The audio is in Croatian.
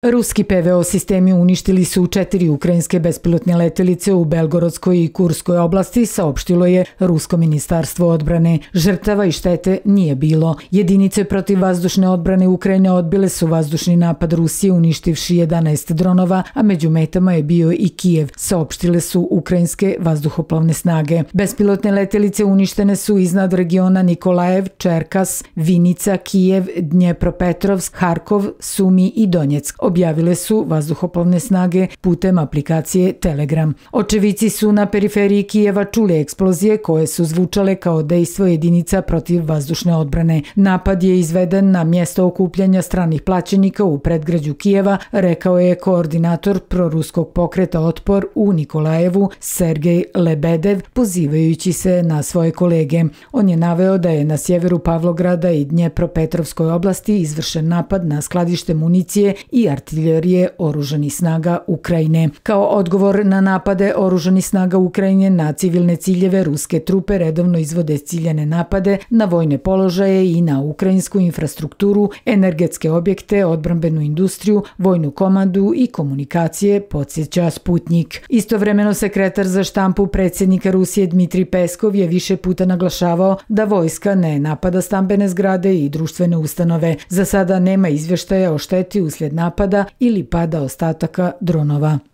Ruski PVO sistemi uništili su 4 ukrajinske bespilotne letelice u Belgorodskoj i Kurskoj oblasti, saopštilo je Rusko ministarstvo odbrane. Žrtava i štete nije bilo. Jedinice protivvazdušne odbrane Ukrajine odbile su vazdušni napad Rusije uništivši 11 dronova, a među metama je bio i Kijev, saopštile su ukrajinske vazduhoplovne snage. Bespilotne letelice uništene su iznad regiona Nikolajev, Čerkas, Vinica, Kijev, Dnjepropetrovsk, Harkov, Sumi i Donjeck, objavile su vazduhoplovne snage putem aplikacije Telegram. Očevici su na periferiji Kijeva čuli eksplozije koje su zvučale kao dejstvo jedinica protiv vazdušne odbrane. Napad je izveden na mjesto okupljanja stranih plaćenika u predgrađu Kijeva, rekao je koordinator proruskog pokreta Otpor u Nikolajevu Sergej Lebedev, pozivajući se na svoje kolege. On je naveo da je na sjeveru Pavlograda i Dnjepropetrovskoj oblasti izvršen napad na skladište municije i artiljerije oružanih snaga Ukrajine. Kao odgovor na napade oružanih snaga Ukrajine na civilne ciljeve, ruske trupe redovno izvode ciljane napade na vojne položaje i na ukrajinsku infrastrukturu, energetske objekte, odbrambenu industriju, vojnu komandu i komunikacije, podsjeća Sputnik. Istovremeno sekretar za štampu predsjednika Rusije Dmitrij Peskov je više puta naglašavao da vojska ne napada stambene zgrade i društvene ustanove. Za sada nema izvještaja o šteti uslijed napada ili pada ostataka dronova.